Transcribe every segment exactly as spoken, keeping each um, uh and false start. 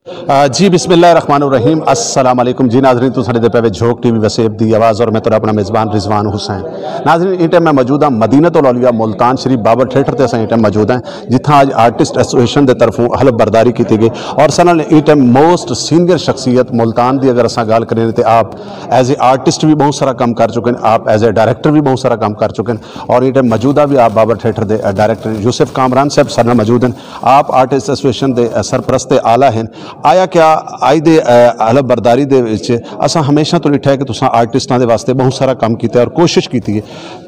آ، جی، بسم اللہ الرحمن الرحیم۔ السلام علیکم۔ جی ناظرین، تساں ݙیہدے پئے وے جھوک ٹی وی وسیب دی آواز اور میں تہاݙا اپݨا میزبان رضوان حسین۔ ناظرین، ایں ٹائم میں موجود ہاں مدینۃ الاولیاء ملتان شریف بابر تھیٹر تے اساں ایں ٹائم موجود ہیں، جتھاں اڄ آرٹسٹ ایسوسیئیشن دے طرفوں حلف برداری کیتی ڳئی اور ساݙے نال ایں ٹائم موسٹ سینئر شخصیت ملتان دی اگر اساں ڳالھ کریں تے آپ ایز اے آرٹسٹ بھی بہت سارا کم کر چکے ہیں، آپ ایز اے ڈائریکٹر بھی بہت سارا کم کر چکے ہیں اور ایں ٹائم موجودہ بھی آپ بابر تھیٹر دے ڈائریکٹر یوسف کامران صاحب ساݙے نال موجود ہیں۔ آپ آرٹسٹ ایسوسیئیشن دے سرپرست اعلیٰ ہیں۔ آیا کیا اڄ دے، اے، حلف برداری دے وچ اساں ہمیشہ تو ݙٹھا ہے کہ تساں آرٹسٹاں دے واسطے بہت سارا کم کیتا ہے اور کوشش کیتی ہے۔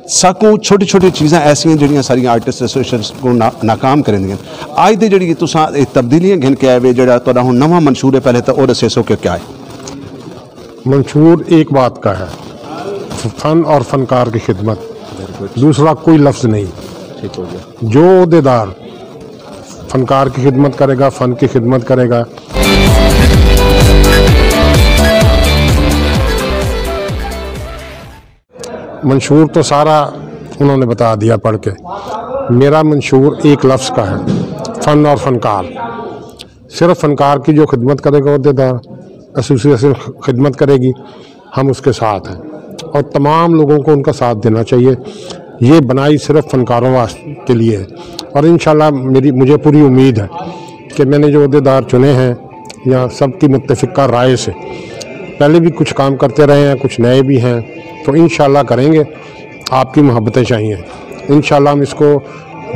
ساکوں چھوٹی چھوٹی چیزاں ایسیاں جڑیاں ساریاں آرٹسٹ ایسوسیئیشن کو نا-، ناکام کریندیاں۔ اڄ دے جڑی تساں اے تبدیلیاں گھن کے آئے وے، جڑا تہاݙا ہݨ نواں منشور ہے، پہلے تاں او ݙسیسو کہ کیا ہے؟ منشور ایک بات کا ہے، فن اور فنکار کی خدمت، دوسرا کوئی لفظ نہیں۔ جو عہدیدار فنکار کی خدمت کرے گا، فن کی خدمت کرے گا۔ منشور تو سارا انہوں نے بتا دیا پڑھ کے۔ میرا منشور ایک لفظ کا ہے، فن اور فنکار۔ صرف فنکار کی جو خدمت کرے گا عہدیدار، ایسوسیئیشن خدمت کرے گی، ہم اس کے ساتھ ہیں اور تمام لوگوں کو ان کا ساتھ دینا چاہیے۔ یہ بنائی صرف فنکاروں واس-، کے لیے ہے اور انشاءاللہ میری، مجھے پوری امید ہے کہ میں نے جو عہدیدار چنے ہیں یا سب کی متفقہ رائے سے، پہلے بھی کچھ کام کرتے رہے ہیں، کچھ نئے بھی ہیں، تو انشاءاللہ کریں گے۔ آپ کی محبتیں چاہیے۔ انشاءاللہ ہم اس کو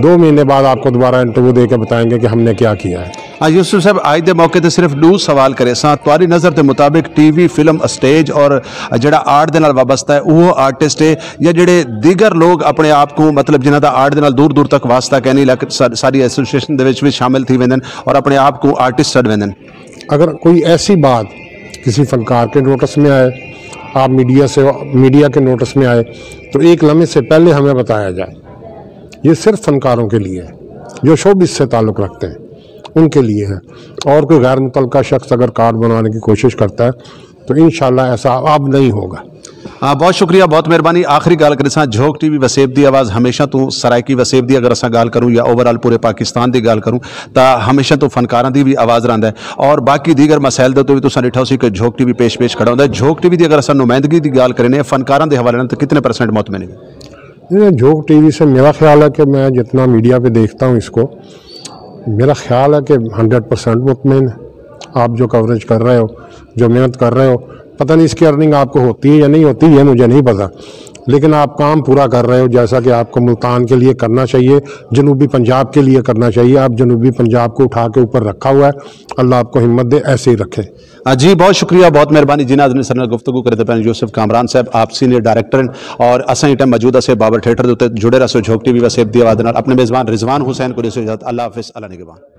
دو مہینے بعد آپ کو دوبارہ انٹرویو دے کے بتائیں گے کہ ہم نے کیا کیا ہے۔ ہاں یوسف صاحب، اڄ دے موقع تے صرف ݙو سوال کریساں۔ تہاݙی نظر دے مطابق ٹی وی، فلم، اسٹیج اور جڑا آرٹ دے نال وابستہ ہے، اوہو آرٹسٹ ہے یا جڑے دیگر لوگ اپݨے آپ کوں، مطلب، جنہاں دا آرٹ دے نال دور دور تک واسطہ کائنی، لیکن سا-، ساݙی ایسوسیئیشن دے وچ وی شامل تھی ویندن اور اپݨے آپ کوں آرٹسٹ سݙ ویندن؟ اگر کوئی ایسی بات کسی فنکار کے نوٹس میں آئے، آپ میڈیا سے، میڈیا کے نوٹس میں آئے، تو ایک لمحے سے پہلے ہمیں بتایا جائے۔ یہ صرف فنکاروں کے لیے ہے، جو شوبز سے تعلق رکھتے ہیں، ان کے لیے ہے۔ اور کوئی غیر متعلقہ شخص اگر کارڈ بنانے کی کوشش کرتا ہے، تو انشاءاللہ ایسا اب نہیں ہوگا۔ ہاں، بہت شکریہ، بہت مہربانی۔ آخری ڳالھ کریساں، جھوک ٹی وی وسیب دی آواز ہمیشہ توں سرائیکی وسیب دی اگر اساں ڳالھ کروں یا اوور آل پورے پاکستان دی ڳالھ کروں، تاں ہمیشہ توں فنکاراں دی وی آواز رہندا ہے۔ اور باقی دیگر مسائل دے تو بھی تساں ݙٹھا ہوسی کہ جھوک ٹی وی پیش پیش کھڑا ہوندا ہے۔ جھوک ٹی وی دی اگر اساں نمائندگی دی ڳالھ کرینے، فنکاراں دے حوالے نال، تاں کتنے پرسنٹ مطمئن ہے؟ یہ جھوک ٹی وی سے میرا خیال ہے کہ میں جتنا میڈیا پہ دیکھتا ہوں اس کو، میرا خیال ہے کہ ہنڈریڈ پرسنٹ مطمئن ہے۔ آپ جو کوریج کر رہے ہو، جو محنت کر رہے ہو، پتہ نہیں اس کی ارننگ آپ کو ہوتی ہے یا نہیں ہوتی، یہ مجھے نہیں پتہ، لیکن آپ کام پورا کر رہے ہو، جیسا کہ آپ کو ملتان کے لیے کرنا چاہیے، جنوبی پنجاب کے لیے کرنا چاہیے۔ آپ جنوبی پنجاب کو اٹھا کے اوپر رکھا ہوا ہے۔ اللہ آپ کو ہمت دے، ایسے ہی رکھے۔ آ، جی، بہت شکریہ، بہت مہربانی۔ جی ناظرین، ساݙے نال گفتگو کریندے پئے ہن یوسف کامران صاحب، آپ سینئر ڈائریکٹر ہن اور اساں ایں ٹائم موجود ہاسے بابر تھیٹر دے اتے۔ جڑے رہسو جھوک ٹی وی وسیب دی آواز دے نال۔ اپݨے میزبان رضوان حسین کوں ݙیسو اجازت۔ اللہ حافظ، اللہ نگہبان۔